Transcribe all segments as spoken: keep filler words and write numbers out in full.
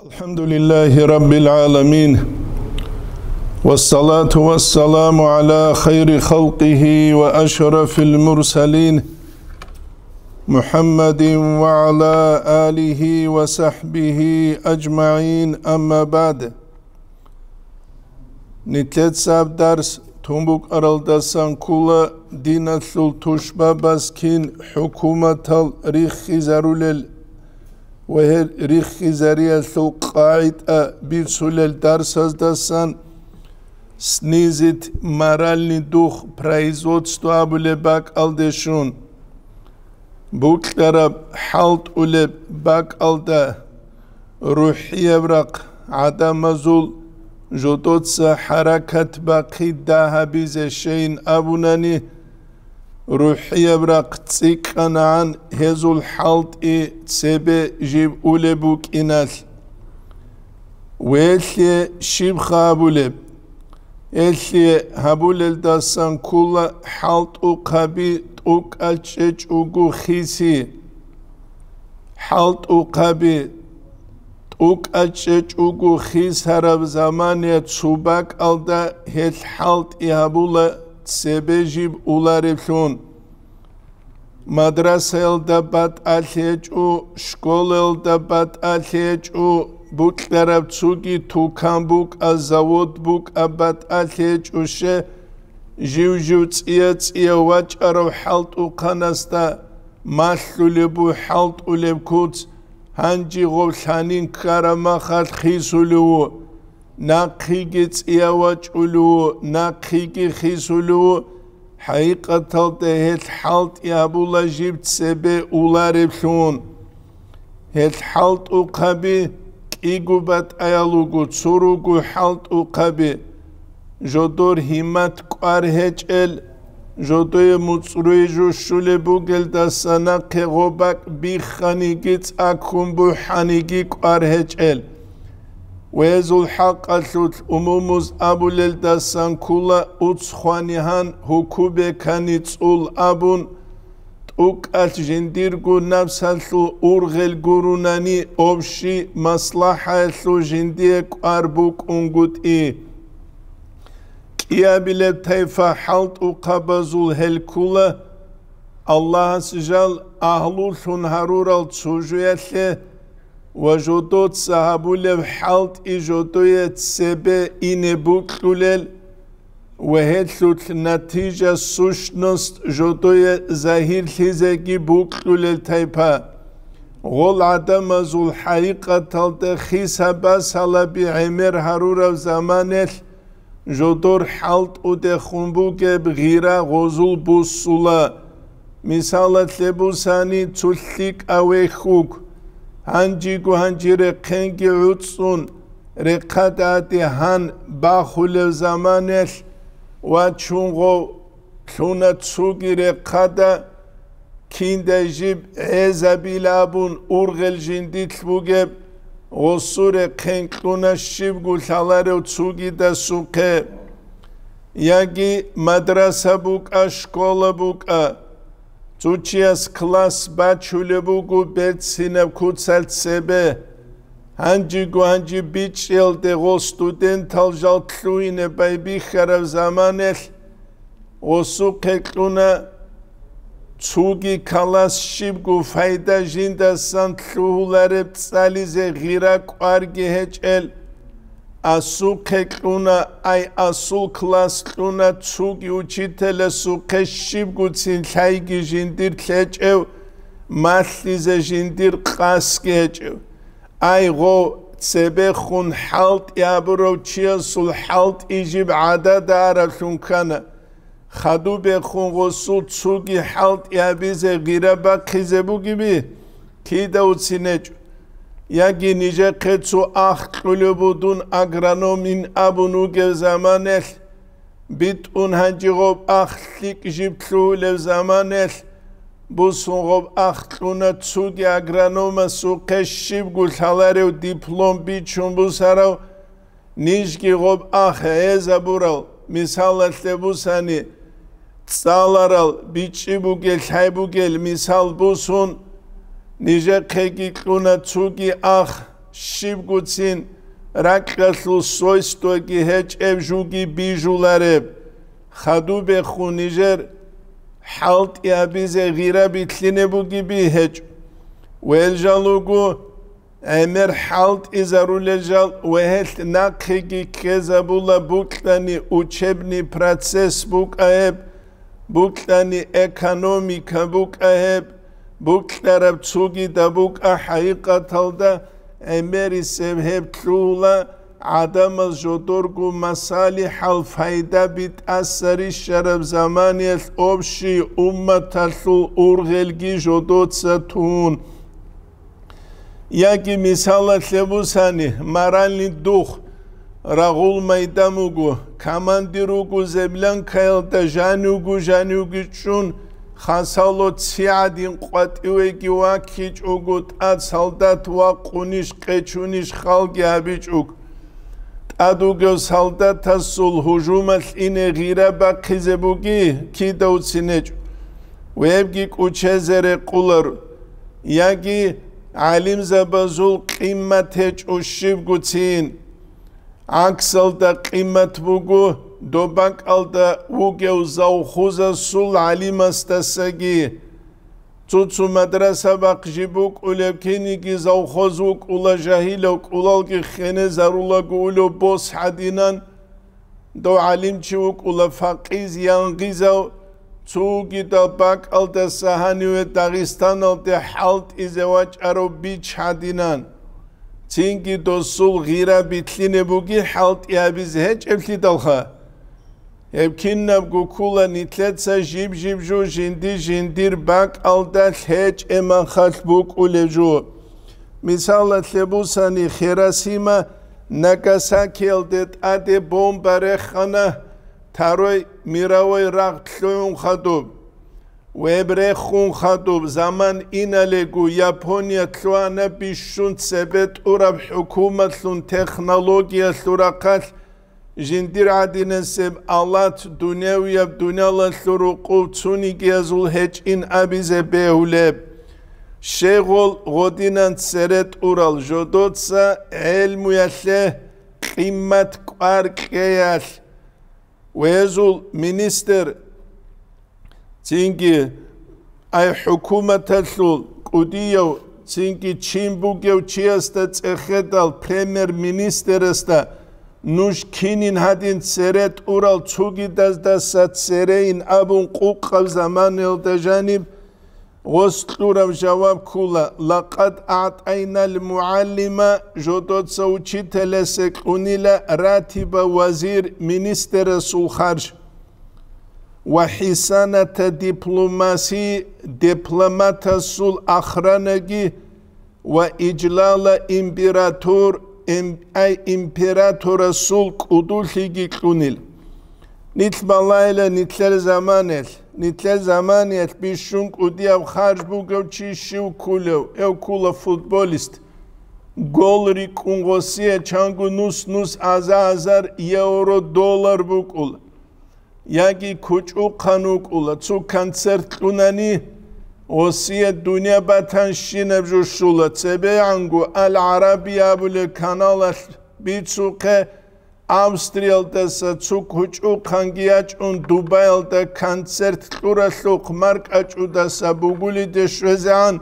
الحمد لله رب العالمين، والصلاة والسلام على خير خلقه وأشرف المرسلين، محمد وعلى آله وصحبه أجمعين، أما بعد. Нилъецаб дарс тун букӀаралдасан ккола диналъул тушбабаз кин хӀукуматал риххизарулел ва гьел риххизариялъул къагӀида бицулел дарсаздасан снизить моральный дух производства абулеб бакӀалде щун. Букьараб хӀалтӀулеб бакӀалда рухӀияб рахъ гӀадамазул жодоца хӀаракат бахъи дагьабизе щейин абунани, рухӀияб рахъ цӀикӀкӀанагӀан гьезул хӀалтӀи цебе жиб улеб букӀиналъ. Велъе щибха абулеб? Элъе гьабулелдасан ккола хӀалтӀухъаби тӀукӀал чӀечӀого хиси. ХӀалтӀухъаби тӀукӀал чӀечӀого хисараб замане цо бакӀалда гьел хӀалтӀи гьабула цебе жиб улареблъун. Мадрасаялда батӀалъи гьечӀо, школаялда батӀалъи гьечӀо, букьараб цоги тукан букӀа, завод букӀа, батӀалъи гьечӀо, ще жив-жив цӀия-цӀия вачӀарав хӀалтӀухъанасда малъулеб бу хӀалтӀулеб куц, гьанжи гъов лъанин ккараб махалъ хисулев ву. Нахъеги цӀия вачӀулев ву, нахъеги хисулев ву, хӀакъикъаталда гьел хӀалтӀи гьабула жиб цебе улареблъун. Гьел хӀалтӀухъаби кӀиго батӀаял руго, цо руго хӀалтӀухъаби. Жодор гьиммат кӀвар гьечӀел, жодое муцӀрой жо щулеб бугелдаса нахъе гъо бакӀ бихханиги цӀаккун бухӀаниги кӀвар гьечӀел. Гьезул хӀакъалъулъ умумуз абулелдасан ккола уцхвани гьан гьукубекани цӀул абун, тӀукӀалъ жиндирго напсалъул ургъел гурунани, общий маслахӀаялъул жиндие кӀвар букӀунгутӀи. КӀиабилеб тайпа хӀалтӀухъабазул гьел ккола Аллагьас жал агьлулъун гьарурал цо жоялъе ва жодоца гьабулеб хӀалтӀи жодое цебе ине букьулел ва гьелъулъ натижа, сущность, жодое загьирлъизеги букьулел тайпа. Гъол гӀадамазул хӀакъикъаталда хиса-басалаби гӀемер гьарураб заманелъ жодор хӀалтӀудехун бугеб гъира гъозул буссула. Мисалалъе бусани, цо лъикӀав вехь вуго. Гьанжего гьанжи рехъенги гӀуцӀцӀун, рехъададе гьан бахулев заманелъ вачун гъов лъуна цоги рехъада, киндай жиб гӀезабила абун ургъел жиндилъ бугеб, гъосул рехъен кьуна щибго лъаларев цогидасухъе. Яги мадраса букӀа, школа букӀа, цо чияс класс бачулеб буго берцинаб куцалъ цебе. Гьанжего гьанжи бичӀчӀиялде гъол студентал жал лъугьине байбихьараб заманелъ, гъосухъе кьуна цоги класс щибго пайда жиндасан лъугьулареб цӀализе гъира кӀварги гьечӀел. Асухъе кьуна, ай, асул класс кьуна цоги учителасухъе щибгоцин лъайги жиндир лъечӀев, малъизе жиндир къасги гьечӀев. Ай, гъо, цебехун хӀалтӀи гьабурав чиясул хӀалтӀи жиб гӀадада араблъун ккана. Хадубехун гъосул цоги хӀалтӀи гьабизе гъира бахъизе бугеби, кида уцинечӀо. Яги нижехъе цо ах кьулеб будун агрономин абун вугев заманелъ, битӀун гьанжи гъоб ах лъикӀ жиб лъугьулев заманелъ, бусун гъоб ах кьуна цуги агрономасухъе щибго лъаларев диплом бичун бусарав, нижги гъоб ах гӀезабурал, мисалалъе бусани, цӀаларал бичӀчӀи бугел, лъай бугел мисал бусун, нижехъеги кьуна цуги ах, Щибгоцин ракьалъул свойствоги гьечӀеб жуги бижулареб. Хадубехун нижер хӀалтӀи гьабизе гъира битлъине бугеби гьечӀо. Вел жал руго, гӀемер хӀалтӀизарулел жал ва гьелъ нахъеги ккезабула букьани учебный процесс букӀа гьеб, букьани экономика букӀа гьеб, букьараб цогидаб букӀа хӀакъикъаталда гӀемерисеб гьеб лъугьула гӀадамаз жодорго масалихӀал пайдаби тӀаса рищараб заманиялъ общий умматалъул ургъелги жодоца тун. Яги мисалалъе бусани, моральный дух, рагъул майдан буго, командир вуго землянкаялда жанивго-жанивги чӀун, хасало ци гӀадин къватӀивеги ваккичӀого тӀад солдат вакъунищ къечунищ халги гьабичӀого. ТӀад вугев солдатасул гьужумалъ ине гъира бахъизе буги кидавцин гьечӀо, вебги кӀучезе рекъоларо. Яги гӀалимзабазул къимат гьечӀо щибгоцин. ГӀаксалда къимат буго доб бакӀалда вугев завхозасул гӀалимасдасаги. Цо-цо мадраса бахъ жиб букӀулеб киниги завхоз вукӀула, жагьилав кӀулалги хенезарулаго улев бос гьадинан. Дов гӀалимчи вукӀула факъиз-янгъизав, цугидал бакӀалдаса гьаниве Дагъистаналде хӀалтӀизе вачӀарав бич гьадинан. Цинги досул гъира битлъине буги хӀалтӀи гьабизе гьечӀеблъидалха. Гьеб кинабго ккула нилъеца жиб-жиб жо жинди-жиндир бакӀалда лъечӀемахалъ букӀулеб жо. Мисалалъе бусани, Хиросима, Нагасакиялде тӀаде бомба рехана, Второй мировой рагъ лъугӀун хадуб. Веб рехун хадуб, заман иналего Япония лъугьана бищун цебе тӀураб хӀукуматлъун технологиялъул рахъалъ, жиндир гӀадинасеб алат дунявияб дуниялалъул рукъов цунигиязул гьечӀин абизе бегьулеб. Щегъол гъодинан цере тӀурал жодоца гӀелмуялъе къимат кӀвар кьеялъ, везул министр, цинги ай хӀукуматалъул кӀудияв, цинги чин бугев чиясда цӀехедал премьер-министрасда нуж кинин гьадин цере тӀурал цугидаздаса церейин абун къукъаб заманаялда жаниб, гъос кьураб жаваб ккула: «Лакъад аътӀайнал мугӀаллима», жодоца учителясе кьунила ратиба вазир, министрасул харж, «ва хӀисаната дипломаси», дипломатасул охранаги, «ва ижлала император», им-, ай императорасул кӀудулъиги кьунил. Нилъ балайла нилъер заманиялъ, нилъер заманиялъ бищун кӀудияб харж бугев чи щив ккулев, гьев ккула футболист. Гол рикӀкӀун гъосие чанго нус-нус аза-азар евро, доллар букӀула. Яги кучӀухъан вукӀула, цо концерт кьунани, гъосие дунья батанщинаб жо щула, цебегӀанго Ал-ГӀараби абулеб каналалъ бицухъе, Австриялдаса цо кучӀухъанги ячӀун, Дубаялда концерт кьуралъухъ маркӀачӀудаса бугулиде щвезегӀан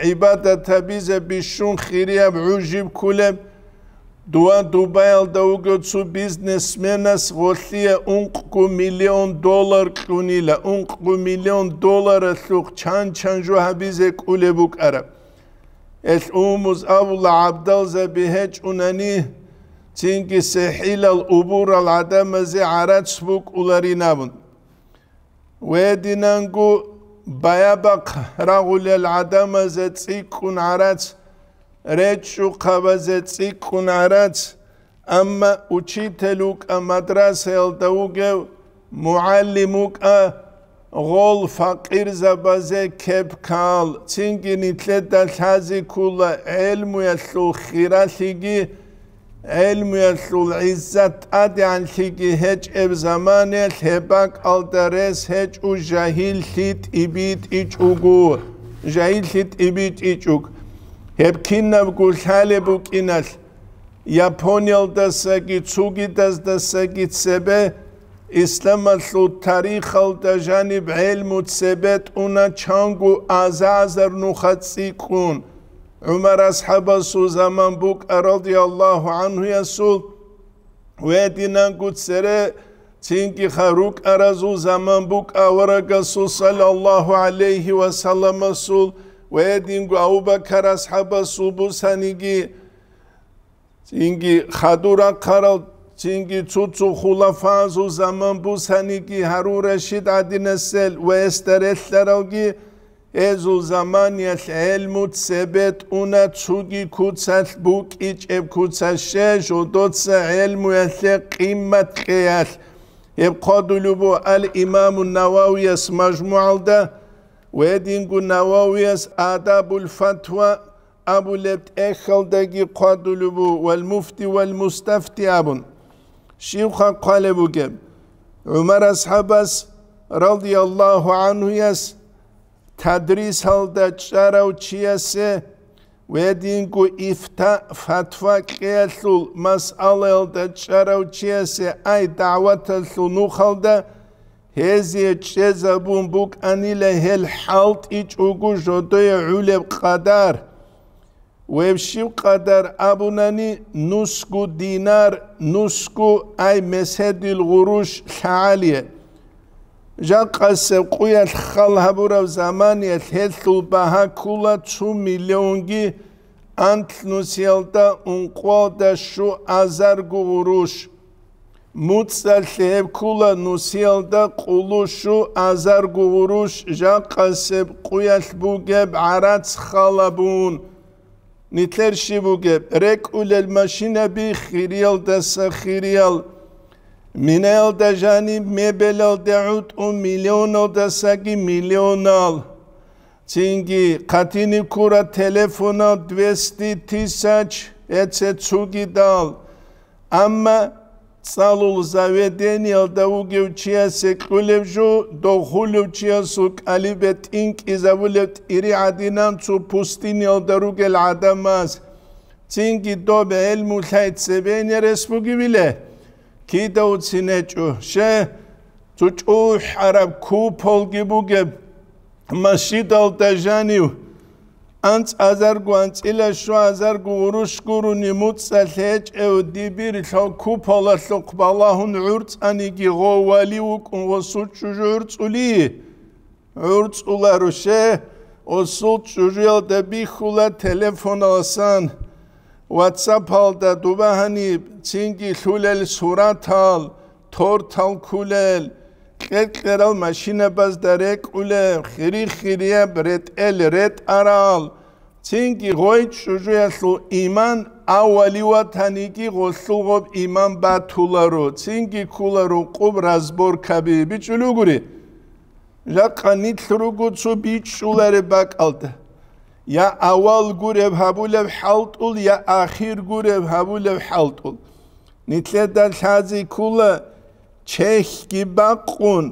гӀибадат гьабизе бищун хирияб гӀужиб ккулеб. Дова Дубаялда вугев цо бизнесменас гъолъие ункъго миллион доллар кьунила, ункъго миллион долларалъухъ чан-чан жо гьабизе кӀулеб букӀараб. Гьелъ умумуз абула, гӀабдалзаби гьечӀунани, цинги сехӀилал убурал гӀадамазе гӀарац букӀуларин абун. Гьединанго баябахъ рагъулел гӀадамазе цӀикӀкӀун гӀарац, речӀчӀухъабазе цӀикӀкӀун гӀарац, амма учитель вукӀа, мадрасаялда вугев мугӀалим вукӀа, гъол факъирзабазе кеп ккал, цинги нилъеда лъази ккула гӀелмуялъул хиралъиги, гӀелмуялъул гӀиззат тӀадегӀанлъиги гьечӀеб заманаялъ гьеб бакӀалда рес гьечӀо жагьиллъи тӀибитӀичӀого, жагьиллъи тӀибитӀичӀого. Гьеб кинабго лъалеб букӀиналъ, Япониялдасаги цугидаздасаги цебе исламалъул тарихалда жаниб гӀелму цебе тӀуна чанго аза-азар нуха цӀикӀкӀун. ГӀумар асхӀабасул заман букӀа, радияллагьу гӀанхуясул, гьединанго цере, цинги ха рукӀаразул заман букӀа аварагасул, саллаллагьу гӀалайгьи ва салламасул, гьединго Абу-Бакар асхӀабасул бусаниги, цинги хадур рахъарал, цинги цо-цо хулафазул заман бусаниги, Гьарун Рашид гӀадинасел ва гьесда релълъаралги, гьезул заманиялъ гӀелму цебе тӀуна цуги куцалъ букӀичӀеб куцалъе жодоца гӀелмуялъе къимат кьеялъ. Гьеб хъвадулеб буго ал-Имаму Нававияс МажмугӀалда, ва гьединго Нававияс Адабул Фатва абулеб тӀехьалдаги хъвадулеб буго, вал Муфти вал Мустафти абун. Щибха хъвалеб бугеб? ГӀумар асхӀабас, радияллагьу гӀанхуяс, тадрисалда чӀарав чиясе ва гьединго ифта, фатва кьеялъул масъалаялда чӀарав чиясе ай дагӀваталъул нухалда гьезие чӀезабун букӀанила гьел хӀалтӀичӀого жодое гӀолеб къадар. Гьеб щиб къадар абунани, нусго динар, нусго ай меседил гъурущ лъагӀалие. Жакъасеб къуялъ хал гьабураб заманиялъ гьелъул багьа ккола цо миллионги анлъ нусиялда ункъоялда щуазарго гъурущ. МуцӀалъе гьеб ккола нусиялда къулу щуазарго гъурущ жакъасеб къуялъ бугеб гӀарац хал гьабун. Нилъер щиб бугеб? РекӀулел машинаби хириялдаса хириял, минаялда жаниб мебелалде гӀутӀун миллионалдасаги миллионал. Цинги хъатине ккурал телефонал двести тысяч эце цугидал. Амма цӀалул заведениялда вугев чиясе кьулеб жо, дохулев чиясул кӀалибе тӀинкӀизабулеб тӀири гӀадинан цо пустыниялда ругел гӀадамаз. Цинги доб гӀелму лъай цебене рес бугевиле? Кида уцин гьечӀо, ще, цо чӀухӀараб куполги бугеб, масжидалда жанив, анцӀазарго, анцӀила щуазарго гъурущ гурони муцӀалъ гьечӀев дибир лъо куполалъухъ балагьун гӀурцӀаниги, гъов вали вукӀун гъосул чӀужу гӀурцӀули? ГӀурцӀуларо, ще, гъосул чӀужуялда бихьула телефоналасан, ватсапалда дуба гьаниб, цинги лъулел суратал, тортал ккулел, кьер-кьерал машинабазда рекӀулеб, хири-хирияб ретӀел ретӀарал, цинги гъой чӀужуялъул иман авали ватаниги гъолъул гъоб иман батуларо, цинги ккула рукъуб разборкаби. БичӀчӀулугури. Жакъа нилъ руго цо бичӀчӀулареб бакӀалда. Я авал гуреб гьабулеб хӀалтӀул, я ахир гуреб гьабулеб хӀалтӀул. Нилъеда лъази ккула чехьги бакъун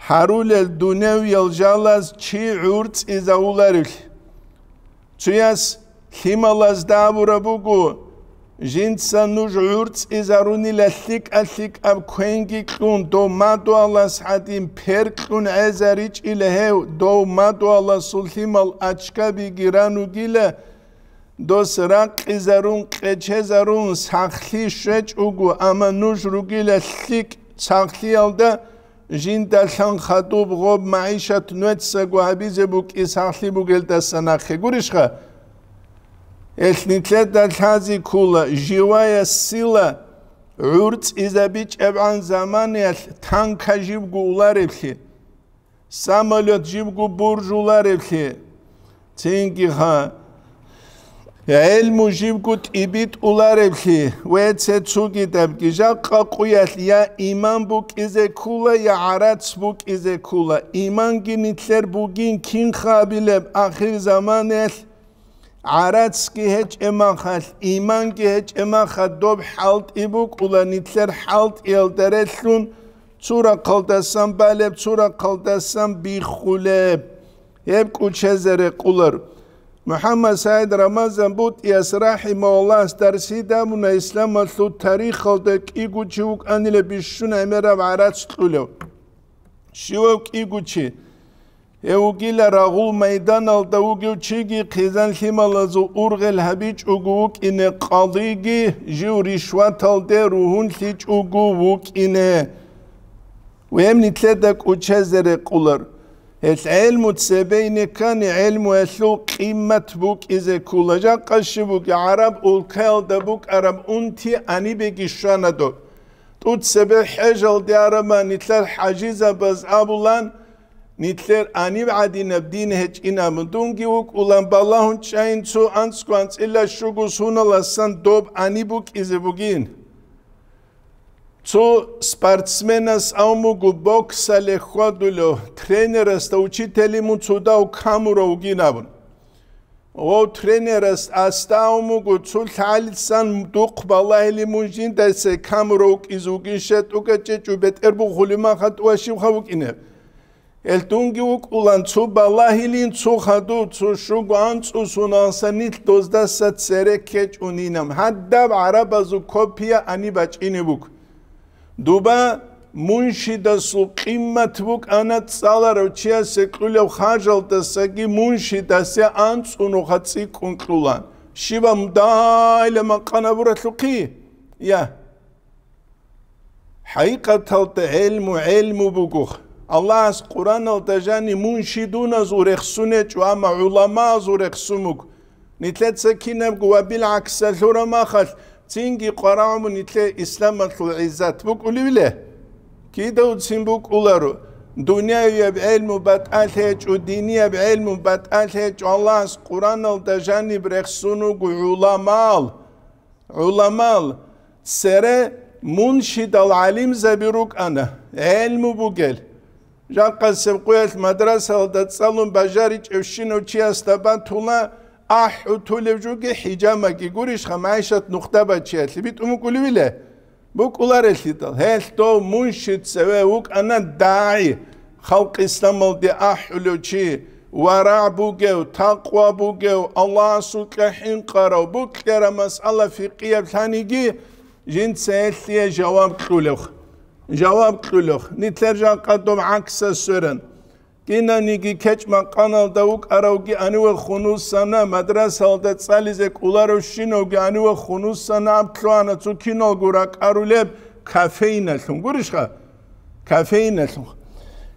гьарулел дуневиял жалаз чи гӀурцӀизавуларевлъи. Цояс лъималазда абураб буго, жинца нуж гӀурцӀизарунила лъикӀа-лъикӀаб квенги кьун, дов мадугьалас гӀадин перкьун гӀезаричӀила гьев, дов мадугьаласул лъимал ачкабиги ранугила, дос ракъизарун, къечезарун сахлъи щвечӀого, амма нуж ругила лъикӀ сахлъиялда, жинда лъан хадуб гъоб магӀишат нуецаго гьабизе букӀи сахлъи бугелдаса нахъе. Гурищха? Гьелъ нилъеда лъази ккула, живая сила гӀурцӀизабичӀебгӀан заманаялъ танка жибго улареблъи, самолет жибго буржулареблъи, цинги гьа, гӀелму жибго тӀибитӀулареблъи, вецецугидабги жакъа къуялъ я иман букӀизе ккула, я гӀарац букӀизе ккула. Иманги нилъер бугин кинха абилеб ахир заманаялъ? ГӀарацги гьечӀемахалъ, иманги гьечӀемахалъ доб хӀалтӀи букӀула, нилъер хӀалтӀиялда релълъун цо рахъалдасан балеб, цо рахъалдасан биххулеб. Гьеб кӀучезе рекъулар. МухӀаммад СагӀид Рамазан БутӀияс рахӀимагьуллагьас дарсида абуна, исламалъул тарихалда кӀиго чи вукӀанила бищун гӀемераб гӀарац кьулев. Щивав кӀиго чи? Гьев вугила рагъул майданалда вугев чиги, хъизан-лъималазул ургъел гьабичӀого вукӀине къадиги, жив ришваталде ругьунлъичӀого вукӀине. Гьеб нилъеда кӀочезе рекъолар. Гьелъ гӀелму цебейне ккани, гӀелмуялъул къимат букӀизе ккола. Жакъа щиб бугеб, гӀараб улкаялда букӀараб унти гьанибеги щвана доб. ТӀуцебе хӀежалде араб нилъер хӀажизабаз абулан, нилъер гьаниб гӀадинаб дин гьечӀин абун. Дунги вукӀулан балагьун чӀайин, цо анцӀго анцӀила щуго суналасан доб гьаниб букӀизе бугин. Цо спортсменас абун буго, боксалде хьвадулев, тренерасда, учителе мун цо дагь камурав вугин абун. Гъов тренерас асда абун буго, цо лъалицан духъ балагьилин мун жиндаса камурав вукӀизе вугин, щай тӀокӀаб чӀечӀо бетӀер бухулеб махалъ тӀуа щибха вукӀинеб? Гьелъ дунги вукӀулан цо балагьилин, цо хадув, цо щуго анцӀго суналасан нилъ доздаса цере ккечӀунин абун. Гьадаб гӀарабазул копия гьаниб бачӀине буго. Дуба муншидасул къимат букӀана цӀаларав чиясе кьулев хӀажалдасаги муншидасе анцӀго нуха цӀикӀкӀун кьулан. Щибаб дагьайила макъана буралъухъи? Я. ХӀакъикъаталда гӀелму гӀелму буго. Аллагьас Къуръаналда жани муншидуназул рехсун гьечӀо, амма гӀуламаазул рехсун буго. Нилъеца кинабго ва билгӀаксалъура махалъ, цинги къварагӀун нилъее исламалъул гӀиззат букӀулевиле? Кидавцин букӀуларо, дуниявияб гӀелму батӀалъи гьечӀо, динияб гӀелму батӀалъи гьечӀо, Аллагьас Къуръаналда жаниб рехсун руго гӀуламал. ГӀуламал, цере муншидал гӀалимзаби рукӀана, гӀелму бугел. Жакъасеб къуялъ мадрасалда цӀалун бажаричӀевщинав чиясда батула, ахӀутулев жуги хӀижамаги, гурищха, МагӀишат нухда бачиялъе битӀун букӀулевиле? БукӀуларелъидал, гьелъ дов муншид цеве вукӀана дагӀи, халкъ исламалде ахӀулев чи, варагӀ бугев, такъва бугев, Аллагьасукьа хӀинкъарав, букьараб масъала фикъияб лъаниги, жинца гьелъие жаваб кьулев. Жаваб кьулев. Нилъер жакъа доб гӀаксас сверан. Кинаниги кечӀ-макъаналда вукӀаравги гьаниве хунусана, мадрасалда цӀализе кӀоларавщинавги гьаниве хунусана, аб лъугьана цо киналго ракӀарулеб кофейналъун. Гурищха? Кофейналъун.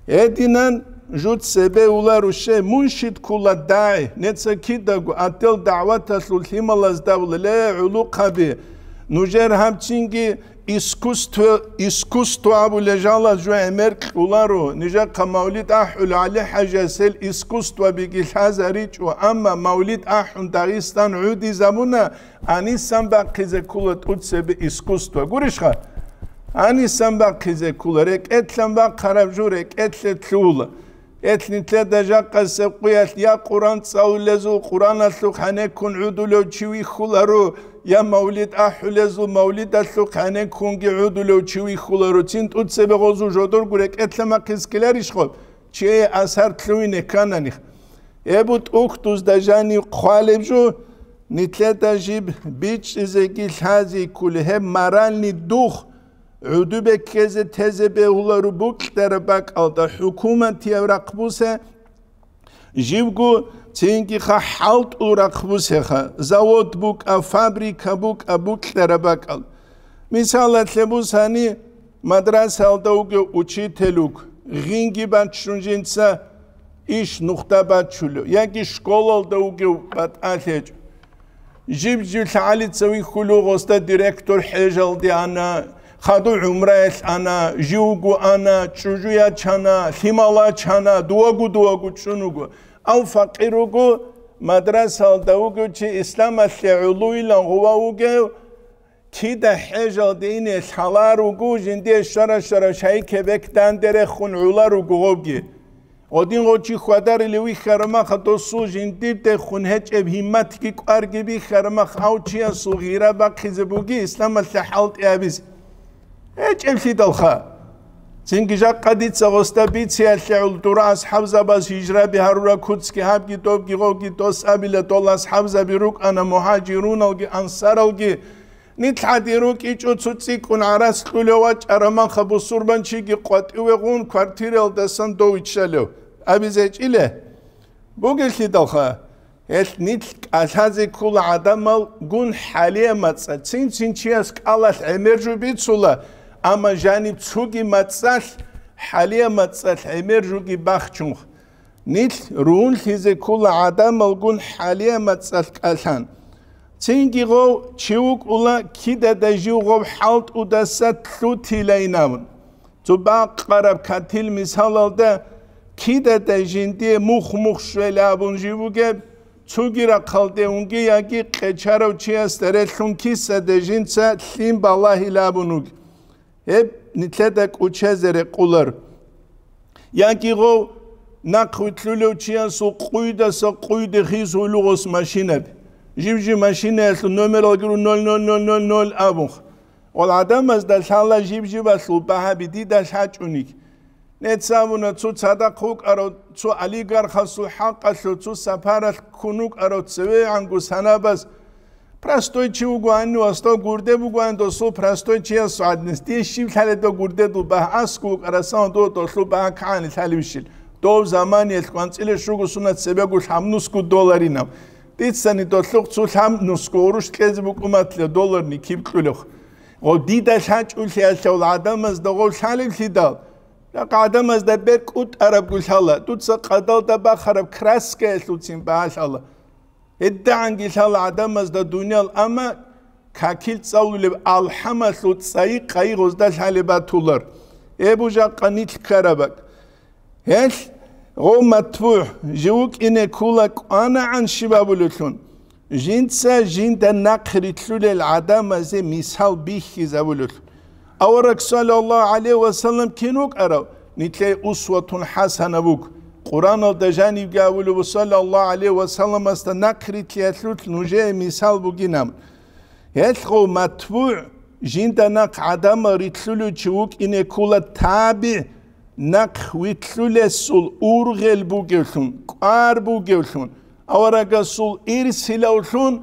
Гьединан жуц цебе уларуще, муншид ккула дагӀи, неца кидаго отдел дагӀваталъул лъималазда абула, ле, гӀулухъаби, нужер гьаб цинги искусство, искусство абулеб жал жо гӀемер кьоларо, нижехъа мавлид ахӀулев ГӀали-хӀажиясел искусствобиги лъазаричӀо, амма мавлид ахӀун Дагъистан гӀодизабуна, гьанисан бахъизе ккола тӀуцебе искусство. Гурищха? Гьанисан бахъизе ккола, рекӀелъан бахъараб жо рекӀелъе лъугьула. Гьелъ нилъеда жакъасеб къуялъ я Къуръан цӀалулезул Къуръаналъухъ гьанеккун гӀодулев чи вихьуларо, я мавлид ахӀулезул мавлидалъухъ гьанеккунги гӀодулев чи вихьуларо, цин тӀуцебе гъозул жодорго рекӀелъа махъис ккеларищ гъоб? Чие асар лъугьине кканани. Эбу тӀухьдузда жанив хъвалеб жо, нилъеда жиб бичӀчӀизеги лъази ккули, гьеб моральный дух, гӀодобе ккезе тезе бегьуларо букьараб бакӀалда, хӀукуматияб рахъ бусе, живго цинги-ха хӀалтӀул рахъ бусеха, завод букӀа, фабрика букӀа, букьараб бакӀал. Мисалалъе бусани, мадрасалда вугев учитель вуго, гъинги баччун жинца иш нухда баччулев, яги школалда вугев батӀалъи гьечӀо. Жиб-жиб лъагӀалица вихьулев гъосда директор хӀежалде ана, хадув гӀумраялъ ана, живго ана, чӀужу ячана, лъимал ячана, дуаго-дуаго чӀун вуго. Ав факъир вуго, мадрасалда вугев чи исламалъе гӀолойилан гъова вугев, кида хӀежалде ине лъалар вуго, жиндие щвара-щвара шайке бек данде рехун гӀолар вуго гъобги. Гъодин гъочи хьвадарили вихьарамаха досул жиндирдехун гьечӀеб гьимматги кӀварги бихьарамах, ав чиясул гъира бахъизе буги исламалъе хӀалтӀи гьабизе. ГьечӀеблъидалха. Цинги жакъа дица гъосда бициялъе гӀолдура асхӀабзабаз гьижраби гьарураб куцги гьабги добги гъовги дос абила дол асхӀабзаби рукӀана мугьажируналги ансаралги. Нилъ гьадин рукӀичӀо цо цӀикӀкӀун гӀарац кьулев вачӀараб манха бусурбанчиги къватӀиве гъун квартиралдасан дов виччалев. Абизе гьечӀила? Бугелъидалха, гьелъ нилъ кӀалъазе ккола гӀадамал гун хӀалия мацӀалъ, цин-цин чияс кӀалалъ гӀемер жо бицула, амма жаниб цоги мацӀалъ, хӀалия мацӀалъ гӀемер жоги бахчунх. Нилъ ругьунлъизе ккола гӀадамал гун хӀалия мацӀалъ кӀалъан. Цинги гъов чи вукӀула, кидадай жив гъов хӀалтӀудаса лъутилайин абун. Цо бакъараб катил мисалалда, кидадай жиндие мух-мух щвела абун жив вугеб, цоги рахъалде унги яги къечарав чиясда релълъун кисаде жинца лъим балагьила абун вугеб, гьеб нилъеда кӀучезе рекъолар. Яги гъов нахъ вилълъулев чиясул къуйдаса къуйде хисулугъос машинаби. Жив-жив машинаялъул номералги ру ноль ноль ноль ноль ноль абун. Гъол гӀадамазда лъала жиб-жибалъул багьаби дида лъачӀуниг. Нецавуна цо цадахъ вукӀарав, цо олигархасул хӀакъалъув, цо сапаралъ ккун вукӀарав цевегӀанго санабаз. Простой чи вугоани, васдав гурде бугоани, досул простой чиясул гӀаднес. Дие щиб лъалеб дов гурдедул багь? АскӀов вукӀарасан дов долъул багь кагӀани лъалевищил? Дов заманиялъ кванцӀила щуго сунат цебего лъабнусго долларинаб. Дицани долъухъ цо лъабнусго гъурущ кьезе букӀуматлъа долларни киб кьулев. Гъов дида лъачӀулъиялъул гӀадамазда гъов лъалевлъидал, ракъ гӀадамазда бер кӀутӀарабго лъала, дуца къадалда бахараб краскаялъулцин багьа лъала. ГьедигӀанги лъала гӀадамазда дуниял, амма какил цӀалулеб алхӀамалъул цӀайи-къайи гъозда лъалеб батулар. Гьеб бу жакъа нилъ ккараб бакӀ. Гьелъ гъов матбугӀ жив вукӀине ккула кӀванагӀан щиб абулевлъун, жинца жинда нахъ рилълъулел гӀадамазе мисал бихьизабулевлъун. Авараг саллаллагьу гӀалайгьи ва саллам кин вукӀарав? Нилъее усватун хӀасана вуго. Къуръаналда жанибги абулеб саллаллагьу гӀалайгьи ва салламасда нахъ рилълъиялъулъ нужее мисал бугин абун. Гьелъ гъов матбугӀ жинда нахъ гӀадамал рилълъулев чи вукӀине ккула табигӀ, нахъ вилълъулесул ургъел бугевлъун, кӀвар бугевлъун, аварагасул ирсилавлъун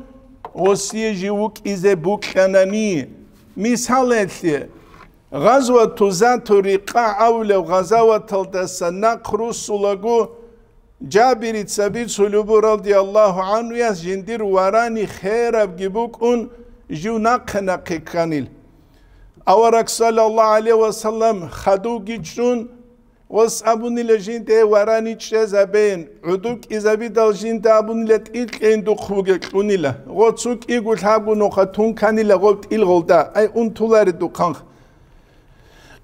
гъосие жив вукӀизе букьанани. Мисалалъе, Гъазвату Зату Рикъа абулев гъазаваталдаса нахъ руссулаго, Жабирица бицулеб буго, радияллагьу гӀанхуяс, жиндир варани херабги букӀун, жив нахъе-нахъе кканил. Авараг, саллаллагьу гӀалайгьи ва саллам, хадувги чӀун, гъос абунила жинда варани чӀезабейин, гӀодов кӀизабидал жинда абунила тӀил кьейин духъ бугел кьунила, гъоцу кӀиго лъабго нуха тун кканила гъоб тӀил гъолда, ай, унтулари духъанха.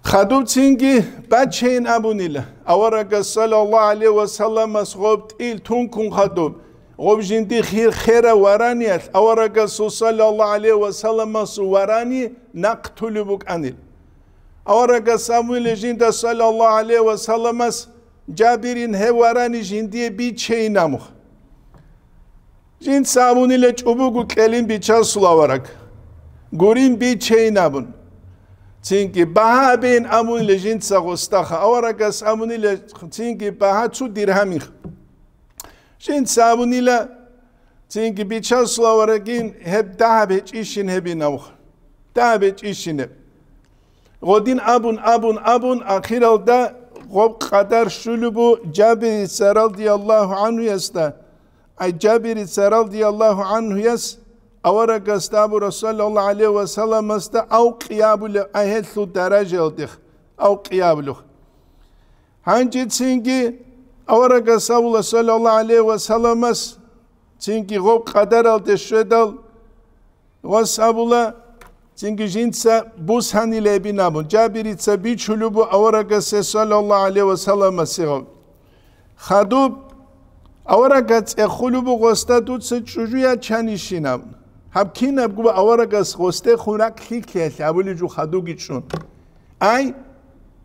Хадуб цинги бачейин абунила. Аварагас, саллаллагьу гӀалайгьи ва салламас, гъоб тӀил тункун хадуб, гъоб жинди хир-, хера вараниялъ аварагасул, саллаллагьу гӀалайгьи ва салламасул, варани нахъ тулеб букӀанил. Аварагас абунила жинда, саллаллагьу гӀалайгьи ва салламас, Жабирин, гьев варани жиндие бичейин абун. Жинца абунила чӀубугу кьелин бичасул авараг. Гурин бичейин абун. Цинги багьа абейин абунила жинца гъосдаха. Аварагас абунила цинги багьа цо диргьамих. Жинца абунила цинги бичасул аварагин гьеб дагьаб гьечӀищин гьебин авха. Дагьаб гьечӀищин гьеб. Гъодин абун, абун, абун, ахиралда гъоб къадар щулеб бу Жабирица радияллагьу гӀанхуясда. Ай, Жабирица радияллагьу гӀанхуяс аварагасда абура, саллаллагьу гӀалайгьи ва салламасда, авкъи абулеб, ай, гьелъул даражаялдех авкъи абулеб. Гьанже цинги аварагас абула, саллаллагьу гӀалайгьи ва салламас, цинги гъоб къадаралде щведал, Гъос абула, цинги жинца бусанила гьебин абун, Жабирица бичулеб бу аварагасе, саллаллагьу гӀалайгьи ва салламасе гъаб. Хадуб, аварагас цӀехулеб бу гъосда, дуца чӀужу ячанищин абун. Гьаб кинабго аварагас гъосдехун ракӀ лъикӀлъиялъе абулеб жо хадуги чӀун. Ай,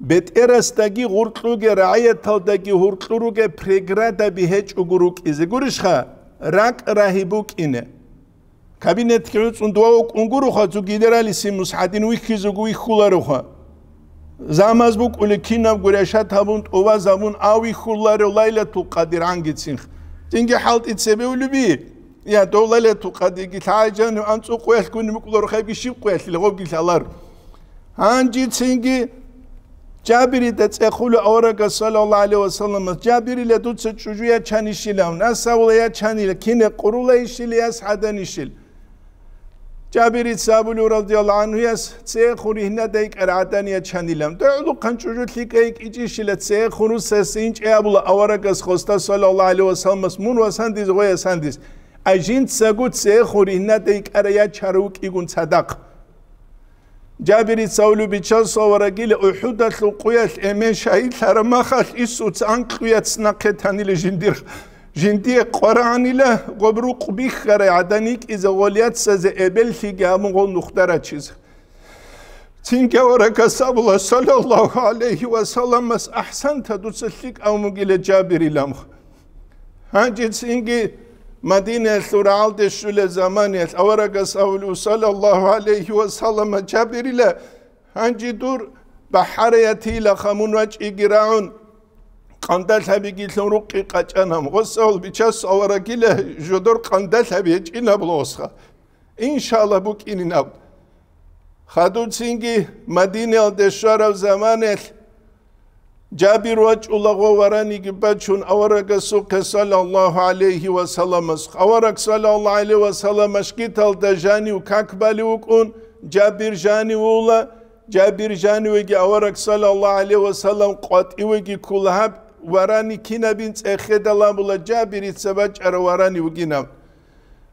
бетӀерасдаги гъуркьуге, рагӀияталдаги гьуркьуруге преградаби гьечӀого рукӀизе гурищха, ракӀ рагьи букӀине. Кабинетги гӀуцӀун дова вукӀун гуроха, цо генералиссимус гьадин вихьизего вихьулароха. Замаз букӀули кинабго решат гьабун, тӀубаз гьабун, авихьуларо Лайлатул Къадир гӀангицин. Цинги хӀалтӀи цебе улеби? Я, дов Лайлатул Къадирги лъагӀай жанив анцӀукъуялъгуни букӀуларо, хайги щиб къуялъила гъобги лъалар. Гьанжицинги Жабирида цӀехулев аварагас, саллаллагьу гӀалайгьи ва салламас: «Жабирила, дуца чӀужу ячанищилав, насавула ячанила, кине къурула ищили, яс гӀаданищил?» Жабирица абулев, радияллагьу гӀанхуяс, цӀехун ригьнадай кӀар гӀадан ячанилан. ДогӀлухъан чӀужу лъикӀай кӀичӀищила, цӀехун русасе инчӀей абула аварагас хоста, саллаллагьу гӀалайгьи ва салламас: «Мун васандиз, гъоясандиз». А жинцаго цӀехун ригьнадай кӀара ячарав вукӀигун цадахъ. Жабирица абулев, Бичасул аварагила, УхӀудалъул къуялъ эмен шагьидлъараб махалъ Исуца анкьго яц нахъе танила жиндир. Жиндие къварагӀанила гъоб рукъ бихьарай гӀадан йикӀизе гъол яцазе эбеллъиги гьабун гъол нухда рачизе. Цинги аварагас абула, саллаллагьу гӀалайгьи ва салламас: «АхӀсанта, дуца лъикӀав мугила, Жабирилан». Гьанже цинги Мадинаялъул рагӀалде щулеб заманиялъ аварагас абулев, саллаллагьу гӀалайгьи ва саллама: «Жабирила, гьанже дур бахӀараятила хамун вачӀиги рагӀун, къандалъабиги лъун рукъи къачӀана». Гъосавул Бичасул аварагила жодор къандалъаби гьечӀинаб лосха. Иншалла, букӀинин аб. Хадуцинги Мадинаялде щвараб заманаялъ Жабир вачӀула гъо вараниги бачун аварагасухъе, саллаллагьу гӀалайгьи ва салламас. Авараг, саллаллагьу гӀалайгьи ва саллам, машгиталда жанив как балев вукӀун, Жабир жанив вула, Жабир жанивеги авараг, саллаллагьу гӀалайгьи ва саллам, къватӀивеги ккула. Гьаб варани кинабин цӀехеда ламула Жабирица бачӀарав варани вугинаб.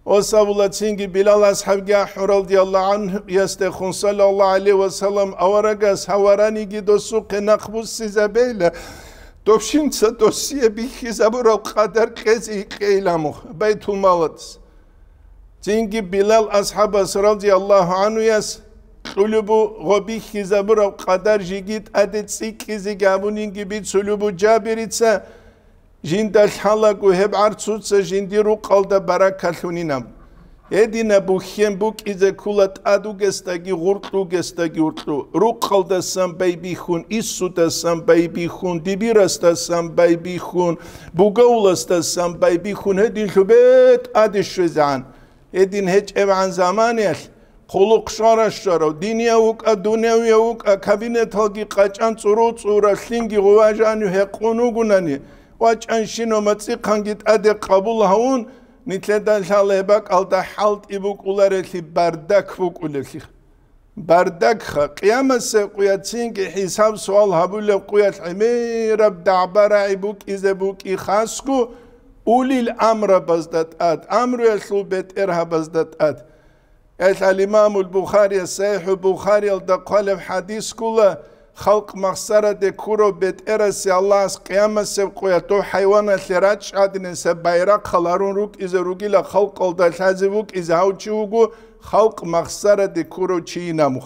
Ос абула цинги Билал асхӀабги ахӀун, радияллагьу гӀанхуясдехун, саллаллагьу гӀалайгьи ва саллам, аварагас гьав вараниги досухъе нахъ буссизабейла, дов щинца досие бихьизабураб къадар кьезе икьейила мух Байтулмалас. Цинги Билал асхӀабас, радияллагьу гӀанхуяс, кьулеб бу гъо бихьизабураб къадар жеги тӀаде цӀикӀкӀизеги гьабунинги бицулеб бу Жабирица, жинда лъалаго гьеб гӀарцуца жиндир рукъалда баракалъунинаб. Гьединаб бухьен букӀизе ккула тӀад вугесдаги гъуркь, вугесдаги уркьу, рукъалдасан байбихьун, Исудасан байбихьун, Дибирасдасан байбихьун, Бугавласдасан байбихьун, гьединлъубе тӀаде щвезегӀан. Гьедин гьечӀебгӀан заманиялъ, хъулухъ щвара-щварав, динияв вукӀа, дунявияв вукӀа, кабинеталги къачӀан цӀуру-цӀуралъинги гъуважанив гьекъун вугунани, вачӀанщинав мацӀихъанги тӀаде къабул гьавун, нилъеда лъала гьеб бакӀалда хӀалтӀи букӀуларелъи, бардак букӀулелъи. Бардакха, къиямасеб къуяцинги хӀисаб-суал гьабулеб къуялъ гӀемераб дагӀба-рагӀи букӀизе букӀи хасго, улил амрабазда тӀад, амруялъул бетӀергьабазда тӀад. Гьелъ ал-Имамул Бухарияс СахӀихӀул Бухариялда хъвалеб хӀадис ккола, халкъ махсараде ккурав бетӀерасе Аллагьас къиямасеб къуялъ дов хӀайваналъе рачӀчӀадинаса байрахъал гьарун рукӀизе ругила халкъалда лъазе вукӀизе гьав чи вуго, халкъ махсараде ккурав чийин абун.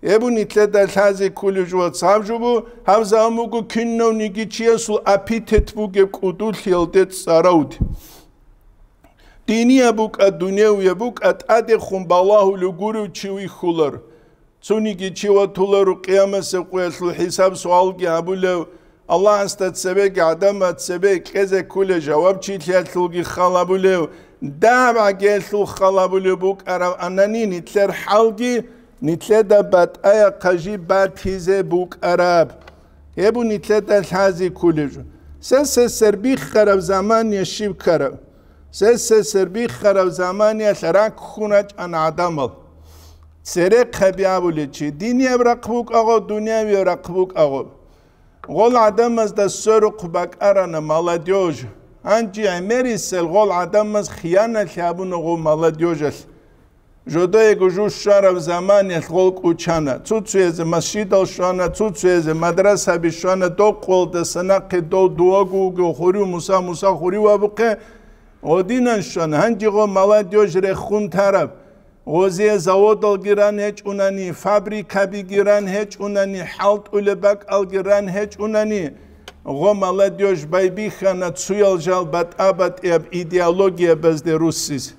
Гьеб нилъеда лъазе кколеб жо цаб жо бу, гьаб заман буго кинавниги чиясул аппетит бугеб кӀудулъиялде цӀаравди. Динияб букӀа, дуневияб букӀа, тӀадехун балагьулев гурев чи вихьулар. Цониги чи ватуларо къиямасеб къуялъул хӀисаб-суалги гьабулев, Аллагьасда цебеги гӀадамаз цебе кьезе кколей жавабчилъиялъулги хал гьабулев, дагьаб гӀагиялъул хал гьабулев букӀараб анани нилъер хӀалги, нилъеда батӀаяхъа жиб батизе букӀараб. Гьеб нилъеда лъазе кколеб жо. Сесесер биххараб замания щиб ккараб? Сесесер биххараб заманиялъ раккун рачӀана гӀадамал. Церехъаби абулев чи, динияб рахъ букӀагъо, дунявияб рахъ букӀагъо. Гъол гӀадамазда сверухъ бакӀарана молодёжь. Гьанже гӀемерисел гъол гӀадамаз хияналъи гьабуна гъо молодёжалъ. Жодоего жу щвараб заманиялъ гъол кӀучана, цуцуязе масжидал щвана, цуцуязе мадрасаби щвана, докъолдаса нахъе дов дувагу вугев хурив Муса, Муса хурив абухъе, гъодинан щвана. Гьанже гъо молодёжь рехун тараб. Гъозие заводалги ран гьечӀунани, фабрикабиги ран гьечӀунани, хӀалтӀулеб бакӀалги ран гьечӀунани, гъо молодёжь байбихьана цуял жал батӀа-батӀияб идеологиябазде руссизе.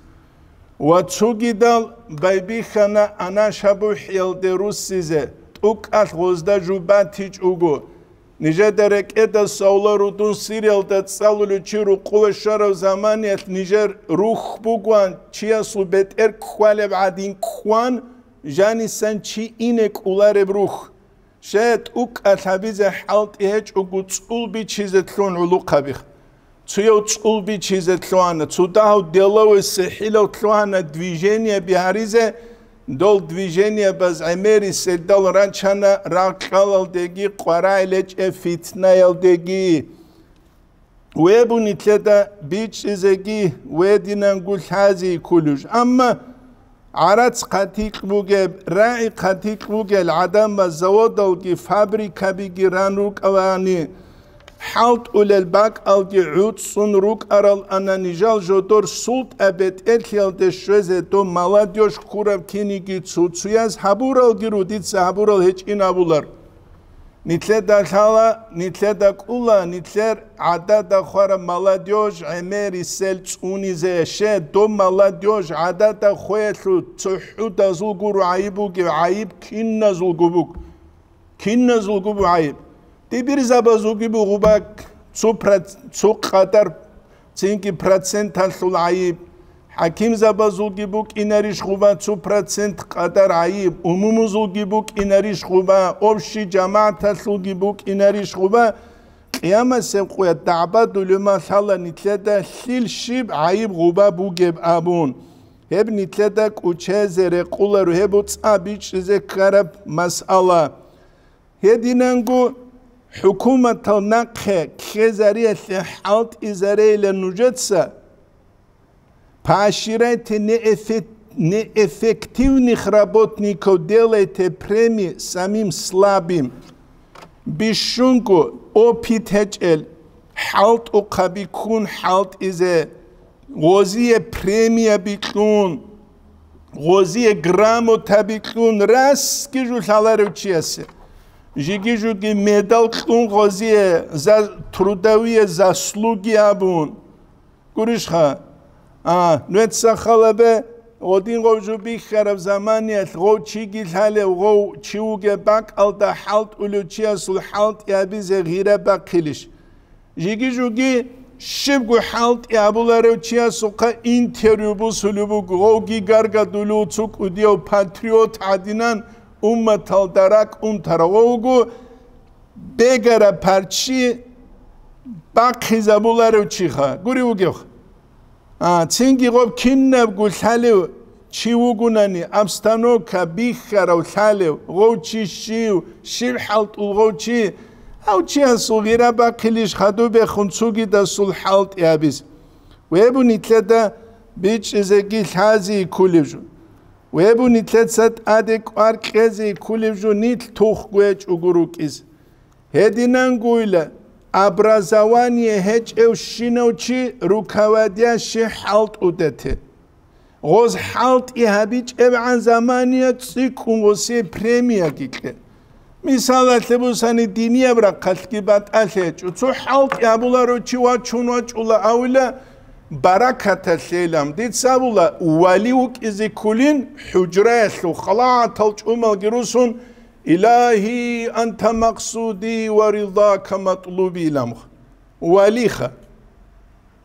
Ва цугидал байбихьана анашабухӀиялде руссизе, тӀукӀалъ гъозда жубатичӀого. Нижеда рекӀеда савла рудун Сириялда цӀалулев чи рукъуве щварав заманиялъ нижер рухь бугван, чиясул бетӀер кквалеб гӀадин ккван, жанисан чи ине кӀолареб рухь. Щай тӀукӀалъ гьабизе хӀалтӀи гьечӀого цӀул бичизе лъугьун гӀулухъаби. Цуяв цӀул бичизе лъугьана, цо дагьав деловой сихӀилав лъугьана движениеби гьаризе, дол движениебаз гӀемери селдал рачана рагъ-кьалалдеги къварагӀи лечӀеб фитнаялдеги. Веб нилъеда бичӀчӀизеги, вединанго лъази кколеб жо. Амма гӀарац хъатикь бугеб, рагӀи хъатикь бугел гӀадамаз заводалги фабрикабиги ран рукӀаралани, хӀалтӀулел бакӀалги гӀуцӀцӀун рукӀарал ана нижал жодор султӀа бетӀерлъиялде щвезе доб молодёжь ккураб киниги цо-цояз гьабуралги ру, дица гьабурал гьечӀин абулар. Нилъеда лъала, нилъеда кӀула, нилъер гӀадада хвараб молодёжь гӀемерисел цӀунизе. Щай, доб молодёжь гӀадада хвеялъул цохӀудазул гуро гӀайиб бугеб, гӀайиб киназулго буго. Киназулго буго гӀайиб. Дибирзабазулги буго бак цо проц-, цо къадар Цинги проценталъул гӀайиб. ХӀакимзабазулги букӀинарищ гъуба цо процент къадар гӀайиб, умумузулги букӀинарищ гъуба, общий жамагӀаталъулги букӀинарищ гъуба, къиямасеб къоялъ дагӀба-дулума лъала нилъеда лъил щиб гӀайиб гъуба бугеб абун. Гьеб нилъеда кӀучезе рекъоларо, гьеб цӀа бичӀчӀизе ккараб масъала. Гьединанго хӀукуматал нахъе ккезариялъе хӀалтӀизарейилан нужеца, поощряйте неэффе-, неэффективных работников, делайте премии самым слабым. Бищунго опыт гьечӀел, хӀалтӀухъаби ккун хӀалтӀизе, гъозие премияби кьун, гъозие грамотаби кьун, расги жо лъаларев чиясе. Жиги-жуги медал кьун гъозие, за-, трудовые заслуги абун. Гурищха? А, нуеца халабе, гъодин гъов жо бихьараб заманиялъ гъов чиги лъалев, гъов чи вугеб бакӀалда хӀалтӀулев чиясул хӀалтӀи гьабизе гъира бахъилищ? Жиги-жуги щибго хӀалтӀи гьабуларев чиясухъа интервью бусулеб буго, гъовги гаргадулев цо кӀудияв патриот гӀадинан умматалда ракӀ унтарав, гъов вуго бегара парччи бахъизабуларев чиха, гури вугевха. А, цинги гъоб кинабго лъалев чи вугунани, обстановка бихьарав лъалев, гъов чи щив, щиб хӀалтӀул гъов чи, гьав чиясул гъира бахъилищ хадубехун цугидасул хӀалтӀи гьабиз? Вебу нилъеда бичӀчӀизеги лъази ккулев жо. Вебу нилъеца тӀаде кӀвар кьезе ккулев жо нилъ тухго гьечӀого рукӀиз. Гьединангойила, образование гьечӀевщинав чи руководящий хӀалтӀудете. Гъоз хӀалтӀи гьабичӀебгӀан замания цӀикӀкӀун гъосие премияги кье. Мисалалъе бусани, динияб рахъалъги батӀалъи гьечӀо. Цо хӀалтӀи гьабуларо чи вачун вачӀула авила, баракаталъейилан. Дица абула, вали вукӀизе ккулин, хӀужраялъул халатал чӀумалги русун, «Илагьи, анта максуди ва ридака матлуби», иламха. Валиха.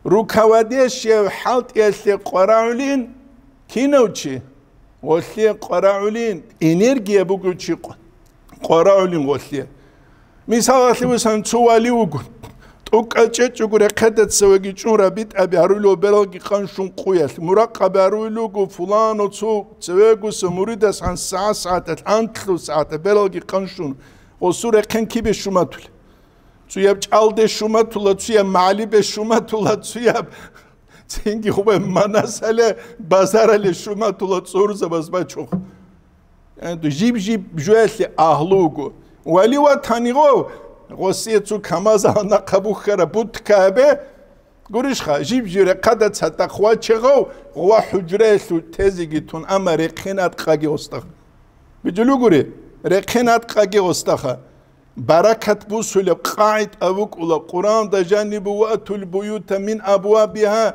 Руководящий хӀалтӀиялъе къварагӀулин кинав чи? Гъолъие къварагӀулин, энергия бугев чи къ-, къварагӀулин гъолъие. Мисалалъе вусан цо вали вуго. ТӀукӀа чӀечӀого рехъеда цевеги чӀун рабитӀаби гьарулев бералги къанщун къуялъ, муракъаби гьарулел руго фулану цо цевегуса муридас гьан сагӀа-сагӀаталъ, анлъу сагӀаталъ бералги къанщун, гъосул рехъен кибе щуматулеб? Цуяб чӀалде щуматула, цуяб магӀалибе щуматула, цуяб цинги хъубай манасале, базарале щуматула цӀурзабаз бачухъ. Жиб-жиб жуялъе агьлу вуго. Вали ватани гъов, гъосие цо камазал нахъа бухьараб бутка гьабе, гурищха, жиб-жиб рехъада цадахъ ваче гъов, гъова хӀужраялъул тезеги тун, амма рехъен аткъаги гъостахъ. Бижулугури, рехъен аткъаги гъостахъа. Баракат бусулеб къагӀида букӀула, Къуръанда жанибу: «Ва атул буюта мин абвабиха»,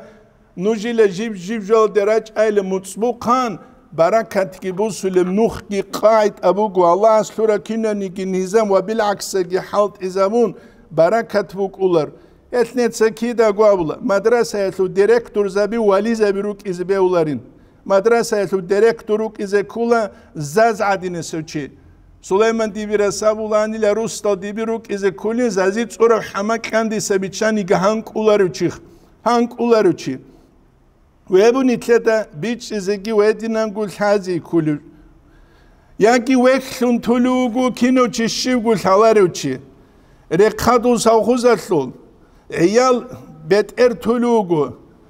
нужила жиб-жиб жалде рачӀайла муцӀбухъан, Баракатги бусулеб нухги къагӀида буго, Аллагьас лъура кинаниги низам ва билгӀаксаги хӀалтӀизабун, баракат букӀулар. Гьелъ неца кидаго абула, мадрасаялъул директорзаби вализаби рукӀизе бегьуларин. Мадрасаялъул директор рукӀизе ккула заз гӀадинасев чи. Сулайман дибирас абуланила, Рустал диби рукӀизе ккулин, зази цӀураб хӀама кьандиса биччаниги гьанкӀуларев чи. ГьанкӀуларев чи. Вебу нилъеда бичӀчӀизеги вединанго лъази ккулев. Яги вехьлъун тулев вуго кинав чи, щивго лъаларев чи. Рехъадул совхозалъул гӀиял бетӀер тулев вуго.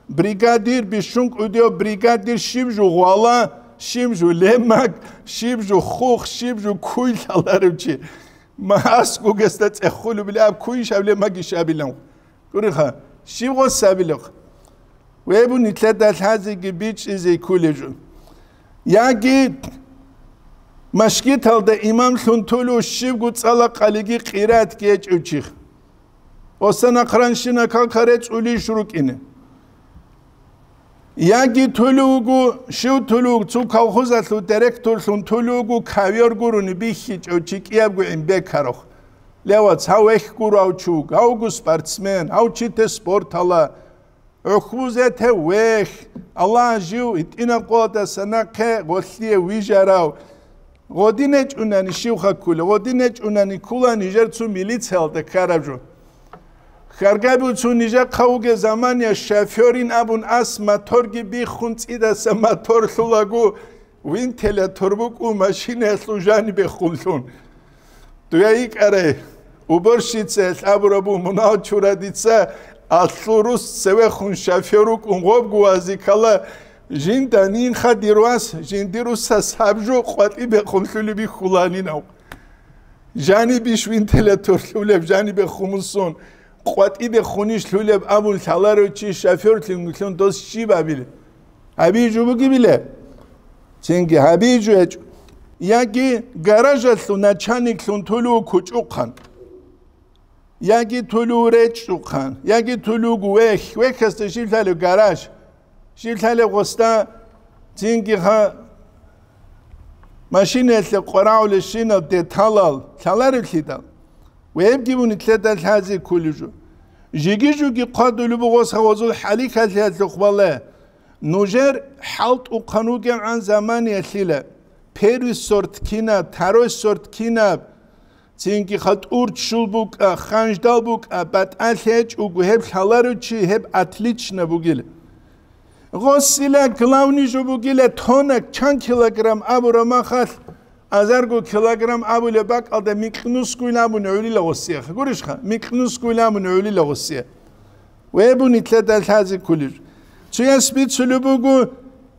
Бригадир, бищун кӀудияв бригадир, щиб жо гъвала, щиб жо лемаг, щиб жо хух, щиб жо куй лъаларев чи. Ма аскӀогесда цӀехолеб аб куйищ аб лемагищ абилан. Гуриха, щиб гъос абилеб? Вебу нилъеда лъазеги бичӀчӀизе кколеб жо. Яги машгиталда имамлъун тулев щибго цӀала къалиги къиратги гьечӀев чи. Оса нахъранщина какаре цӀулищ рукӀине. Яги тулев вуго, щив тулев вуго, цо колхозалъул директорлъун тулев вуго, ковёр гурони бихьичӀев чи кӀиябго гӀин бекарухъ. Ле, вац, гьав вехь гурав чи вуго, гьавго спортсмен, гьав чи те спортала. ГӀухьбузе те вехь, Аллагь жив гьитӀинаб къоялдаса нахъе гъолъие вижарав. Гъодин гьечӀунани щивха ккула, гъодин гьечӀунани ккула нижер цо милициялда ккараб жо. Хьаргабицун нижехъа вугеб замания шофёрин абун ас моторги биххун цӀидаса мотор лъулаго, вентилятор букӀун машинаялъул жанибехун лъун. Дуе йикӀарай, уборщицаялъ абураб буго, мунагьал чура дица, алъул рус цевехун шофёр вукӀун гъобгу вази ккала, жинда нинха дир вас, жиндир русас гьаб жо къватӀибехун лъулеб бихьуланинав. Жанибищ вентилятор лъулеб, жанибехун мусун, къватӀибехунищ лъулеб абун лъаларев чи шофёрлъун дос щиб абилеб? Гьабизе жо бугебилеб? Цинги гьабизе жо гьечӀо. Яги гаражалъул начальниклъун тулув кучӀухъан. Яги тулув речӀчӀухъан. Яги тулув вехь. Вехьасда щиб лъалеб? Гараж. Щиб лъалеб гъосда? Цинги ха машинаялъе къварагӀулебщинал деталал лъаларевлъидал. Вебги мун нилъеда лъазе кколеб жо. Жиги-жуги хъвадулеб буго гъос гьавазул хӀалихьалъиялъухъ бале. Нужер хӀалтӀухъан вугевгӀан заманиялъила, первый сорт кинаб, второй сорт кинаб, цинги хатӀур ччул букӀа, ханждал букӀа, батӀалъи гьечӀого, гьеб лъаларев чи, гьеб отлично бугила. Гъосила главный жо бугила, тонна чан килограмм абураб махалъ, азарго килограмм абулеб бакӀалда микьнусгуйин абун гӀолила гъосиеха. Гурищха? Микьнусгуйин абун гӀолила гъосие. Вебу нилъеда лъазе кколеб жо. Цояс бицулеб буго,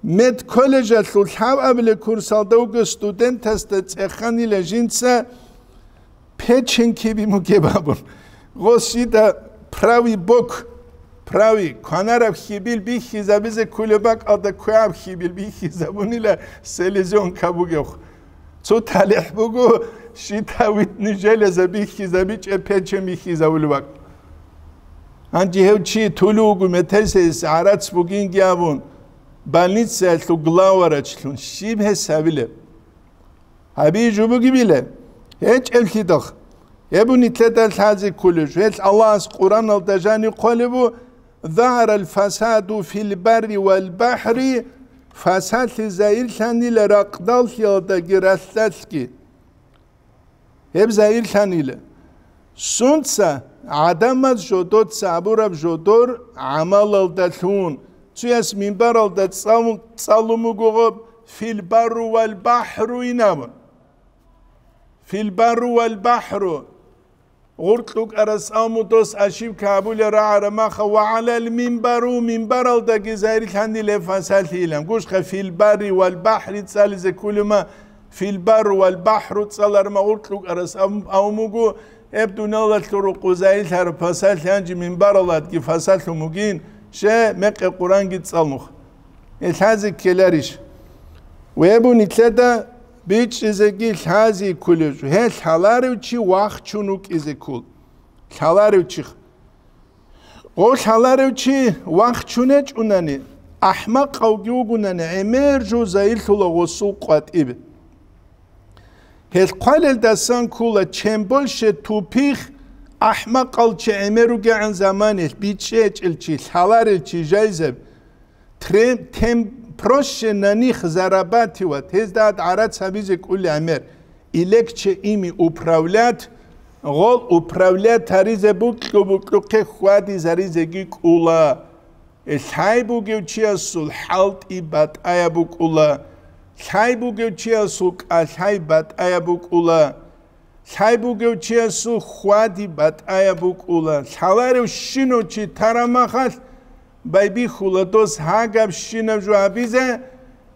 медколледжалъул лъабабилеб курсалда вугев студентасда цӀеханила жинца печень кибин бугеб абун. Гъос жида правый бок, правый, кванараб хьибил бихьизабизе кколеб бакӀалда квегӀаб хьибил бихьизабунила селезенка бугевха. Цо талихӀ буго, щитовидный железа бихьизабичӀеб печень бихьизабулеб бакӀ. Гьанже гьев чи тулув вуго, метерсейис гӀарац бугинги абун, больницаялъул главврачлъун щиб гьес гьабилеб? Гьабизе жо бугебилеб? ГьечӀеблъидал. Гьеб нилъеда лъазе кколеб жо. Гьелъ Аллагьас Къуръаналда жаниб хъвалеб буго, «ظهر الفساد في البر والبحر», фасадлъи загьирлъанила ракъдаллъиялдаги ралъдалъги. Гьеб загьирлъанила. Сунца? ГӀадамаз жодоца абураб жодор гӀамалалдалъун. Цояс минбаралда цӀал-, цӀалун буго гъоб, «في البر والبحر» ин абун. «في البر والبحر». ГъуркьукӀарас абун дос ошибка гьабулел рагӀараб маха, «وعلى المنبر», минбаралдаги загьирлъанила гьеб фасадлъи илан. Гушха, «في البر والبحر» цӀализе кколеб ма, «في البر والبحر» цӀалараб ма гъуркьукӀарас абун, абун буго, гьеб дуниялалъул рукъу загьирлъараб фасадлъи гьанже минбаралдаги фасадлъун бугин, щай, мекъи Къуръанги цӀалун. Гьелъ лъазе ккеларищ? Вебу нилъеда бичӀчӀизеги лъазе кколеб жо. Гьелъ лъаларев чи вахчун вукӀизе ккол. Лъаларев чи. Гъо лъаларев чи вахчун гьечӀунани, АхӀмакъавги вугунани гӀемер жо зайиллъула гъосул къватӀиб. Гьел хъвалелдасан ккола, чем больше тупих, ахӀмакъал чи гӀемер ругегӀан заманалъ, бичӀчӀечӀел чи, лъаларел чи жайзаб, тре-, тем проще на них зарабатывать, гьезда гӀарац гьабизе кӀули гӀемер, и легче ими управлять, гъол управлять гьаризе букьу-букьухъе хьвадизаризеги кӀула. Лъай бугев чиясул хӀалтӀи батӀаяб букӀула, лъай бугев чиясул кӀалъай батӀаяб букӀула, лъай бугев чиясул хьвади батӀаяб букӀула. Лъаларев щинав чи тарамахалъ байбихьула дос гьагабщинаб жо гьабизе,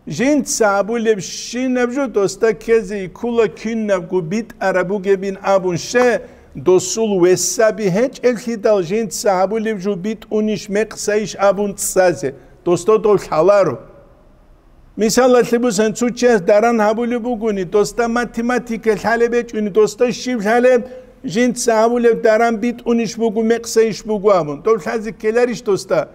жинца гьабулебщинаб жо досда ккезе иккула, кинабго битӀараб бугебин абун ще, досул весаби гьечӀеллъидал жинца гьабулеб жо битӀунищ мекъсайищ абун цӀазе, досда дов лъаларо. Мисалалъе бусан, цо чияс даран гьабулеб бугони, досда математика лъалеб гьечӀони, досда щиб лъалеб, жинца гьабулеб даран битӀунищ буго, мекъсайищ буго абун, дов лъазе ккеларищ досда?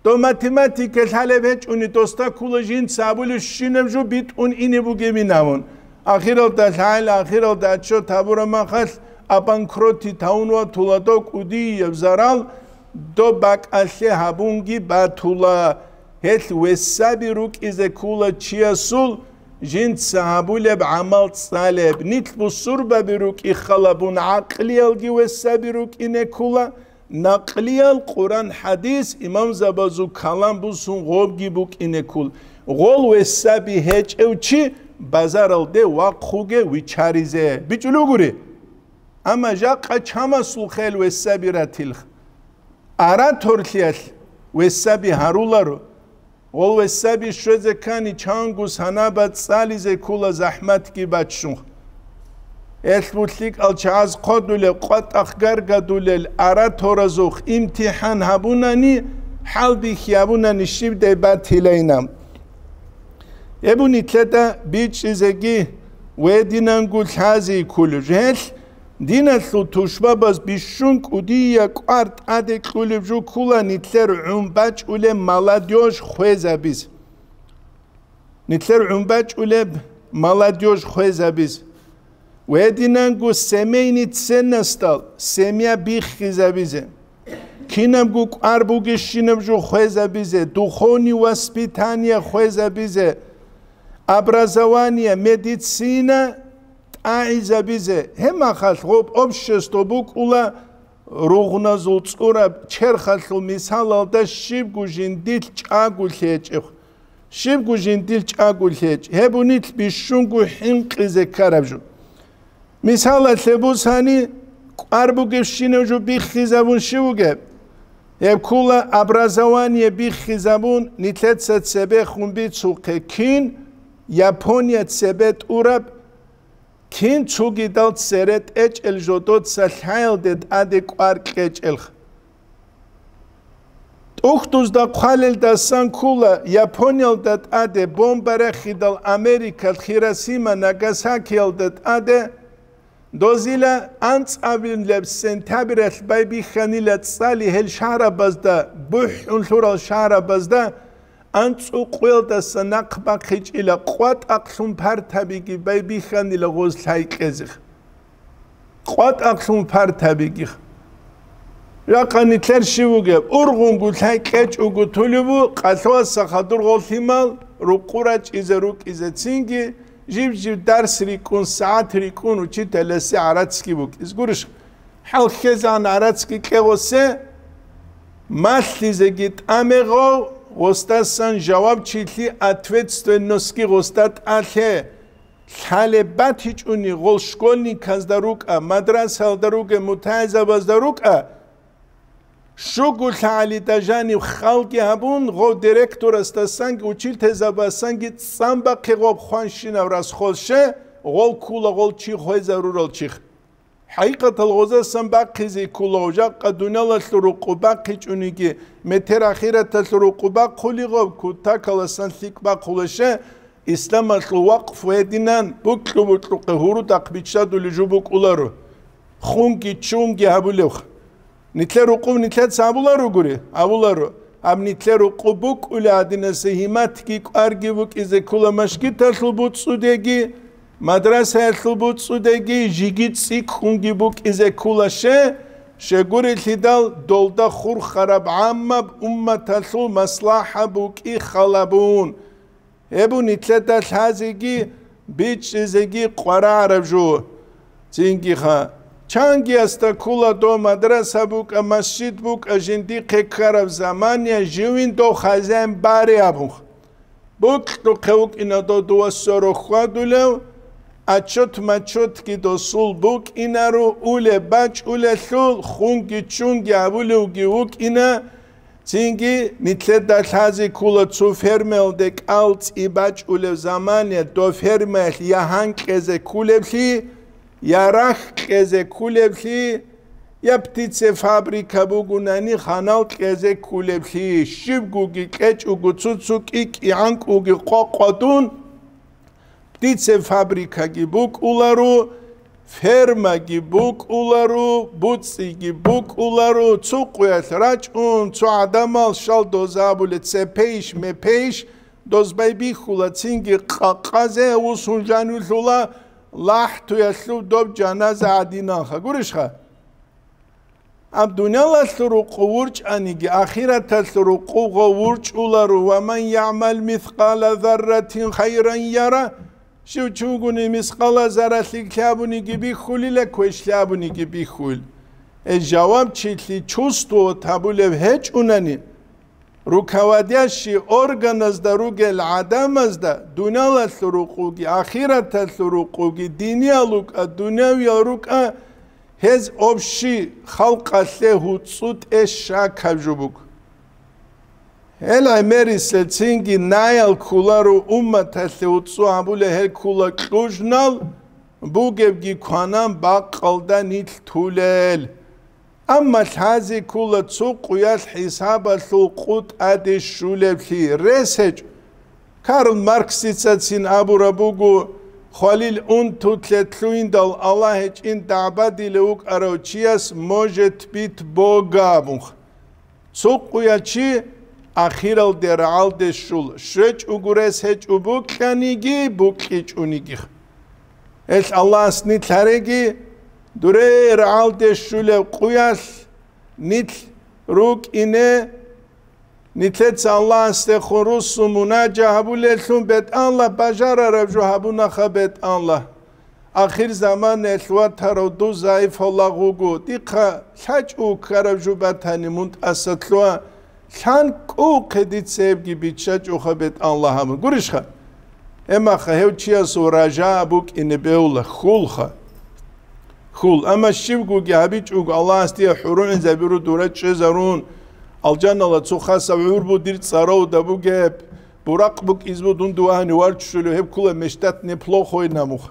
Дов математика лъалеб гьечӀони, досда ккула жинца абулебщинаб жо битӀун ине бугебин абун. Ахиралда лъагӀел, ахиралда отчет гьабураб махалъ, обанкротить гьавун ватула дов, кӀудияб зарал доб бакӀалъе гьабунги батула. Гьелъ весаби рукӀизе ккула чиясул жинца гьабулеб гӀамал цӀалеб. Нилъ бусурбаби рукӀи халабун, гӀакълиялги весаби рукӀине ккула. Накълиял Къуран-хӀадис, имамзабазул калам бусун гъобги букӀине ккул. Гъол весаби гьечӀев чи базаралде вахъуге вичаризе бичӀулугури. Амма жакъа чамасул хел весаби ратилха. Араторлъиялъ весаби гьаруларо. Гъол весаби щвезе ккани, чанго санаба цӀализе ккула, захӀматги баччун. Элъ булъикӀал чагӀаз хъодулел, къватӀахъ гаргадулел араторазухъ имтихӀан гьабунани, хӀалбихьи гьабунани щибдай батилайна. Гьеб нилъеда бичӀчӀизеги ва гьединанго лъази кколеб жо. Гьелъ диналъул тушбабаз бищун кӀудия кӀвар тӀаде кьулеб жо ккула нилъер гӀун бачӀулеб молодёжь хвезабиз. Нилъер гӀун бачӀулеб молодёжь хвезабиз. Ва гьединанго семейный ценностал семья биххизабизе. Кинабго кӀвар бугебщинаб жо хвезабизе, духовный воспитание хвезабизе, образование, медицина тӀагӀизабизе. Гьеб махалъ гъоб общество букӀула ругъназул цӀураб черхалъул мисалалда, щибго жиндилъ чӀаго лъечӀеб. Щибго жиндилъ чӀаго лъечӀ, гьеб нилъ бищунго хӀинкъизе ккараб жо. Мисалалъе бусани, кӀвар бугебщинаб жо биххизабун щив вугеб? Гьеб ккула образование биххизабун, нилъеца цебехун бицухъе кин Япония цебе тӀураб, кин цогидал цере тӀечӀел жодоца лъаялде тӀаде кӀвар кьечӀелха. ТӀухьдузда хъвалелдасан ккула Япониялда тӀаде бомба рехидал Америкалъ Хиросима, Нагасакиялда тӀаде, дозила анцӀабилеб сентябралъ байбихьанила цӀали гьел шагьрабазда, бухӀун лъурал шагьрабазда, анцӀукъуялдаса нахъ бахъичӀила, къватӀахълъун партабиги байбихьанила гъоз лъай кьезех. КъватӀахълъун партабиги. Ракъа нилъер щив вугеб? Ургъунго лъай кьечӀого тулебу, къалъуаса хадур гъол лъимал рукъу рачӀизе рукӀизе цинги, жиб-жиб дарс рикӀкӀун, сагӀат рикӀкӀун учителасе гӀарацги букӀиз гурищ? ХӀалхьезегӀан гӀарацги кьегъосе, малъизеги тӀамегъав, гъосдасан жавабчилъи, ответственностьги гъосда тӀалъе. Лъалеб батичӀони гъол школьниказда рукӀа, мадрасаялда ругел мутагӀилзабазда рукӀа, щуго лъагӀалида жанив халги гьабун, гъов директорасдасанги учительзабасанги цӀан бахъе гъоб хванщинав расхол ще, гъол ккула гъол чи хвезарурал чих. ХӀакъикъатал гъозасан бахъизе ккола, жакъа дуниялалъул рукъу бахъичӀониги, метер ахираталъул рукъу бахъули гъоб, кутакаласан лъикӀ бахъула ще, исламалъул вакъфу гьединан, букьу-букьухъе гьурудахъ биччадулел жо букӀуларо. Хунги чунги гьабулевха. Нилъер рукъуб нилъеца абуларо гури? Абуларо. Гьаб нилъер рукъу букӀула гьадинаса гьиматги кӀварги букӀизе ккола машгиталъул буцӀцӀудеги, мадрасаялъул буцӀцӀудеги, жиги цӀикӀкӀунги букӀизе ккола ще, щегурелъидал долда хурхараб гӀаммаб умматалъул маслахӀа букӀи халабун. Гьеб нилъеда лъазеги бичӀчӀизеги къварагӀараб жо. Цинги ха, чангиясда ккола дов мадраса букӀа, масжид букӀа, жиндихъе ккараб замания живин дов хазяин бари абун. Бокьухъе вукӀина дов дувасаро хьвадулев, отчет-мачетги досул букӀинаро, улеб бачӀулелъул, хунги чунги абулевги вукӀина, Цинги нилъеда лъазе ккола цо фермаялде кӀал цӀи бачӀулев замане, дов фермаялъ я гьан кьезе кколеблъи, я рахь кьезе кколеблъи, я птицефабрика бугунани ханал кьезе кколеблъи, щибгоги кьечӀого цо-цо кӀи-кӀигӀанкӀуги къо-къо дун, Птицефабрикаги букӀуларо, фермаги букӀуларо, буцӀцӀиги букӀуларо, цо къуялъ рачӀун, цо гӀадамал щал дозабуле цепейищ-мепейищ, дозбай бихьула цинги къакъазе, усун жанивлъула лахӀтуялъул доб жаназа гӀадиналха. Гурищха? Гьаб дуниялалъул рукъу вурчӀаниги, ахираталъул рукъуго вурчӀуларо, «Ва ман ягӀмал мискъала зарратин хайран яра», щив чи вугони мискъала зарралъи лъабуниги бихьулила, квешлъи абуниги бихьул. Э, жавабчилъи чувствовать гьабулев гьечӀунани, Руководящий органазда ругел гӀадамазда дуниялалъул рукъуги, ахираталъул рукъуги, диниял рукӀа, дунявиял рукӀа, гьез общий халкъалъе гьуцӀцӀу тӀе щакаб жо буго. Гьел гӀемерисел цинги наял кколаро умматалъе гьуцӀцӀу гьабулей, гьел ккола кьужнал, бугебги кванан бакъалда нилъ тулел. Амма лъазе ккола цо къуялъ хӀисабалъул къу тӀаде щулеблъи, рес гьечӀо. Карл Марксицацин абураб буго, хвалил унтулъе лъугьиндал Аллагь гьечӀин дагӀбадилев вукӀарав чияс может быть Бога абун. Цо къуя чи ахиралде рагӀалде щула, щвечӀого рес гьечӀо букьаниги, букьичӀониги. Гьелъ Аллагьас нилъ гьареги, дуре рагӀалде щулеб къуялъ нилъ рукӀине, нилъеца Аллагьасдехун руссун мунажа гьабулеллъун бетӀанла бажарараб жо гьабунаха бетӀанла. Ахир заманаялъ ватарав дов загӀипав лагъ вуго, дихъа лъачӀого ккараб жо батани, мун тӀаса лъугьа, лъан кӀувухъе дица гьебги биччачӀоха бетӀанла гьабун. Гурищха? Гьебмаха гьев чиясул ража букӀине бегьула, хьулха. Хьул. Амма щибгоги гьабичӀого, Аллагьас дие хӀурулгӀинзабиру дура чӀезарун, алжанала цо хасаб гӀур бу дир цӀаравда бугеб, буракъ букӀиз бу дун дувагьани варччулев, гьеб ккола мечтать неплохой на муха.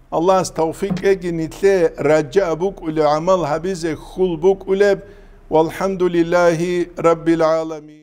Аллагьас тавфикъ кьеги нилъее ража букӀулеб гӀамал гьабизе, хьул букӀулеб. Валхамдулиллагьи раббил гӀаламин.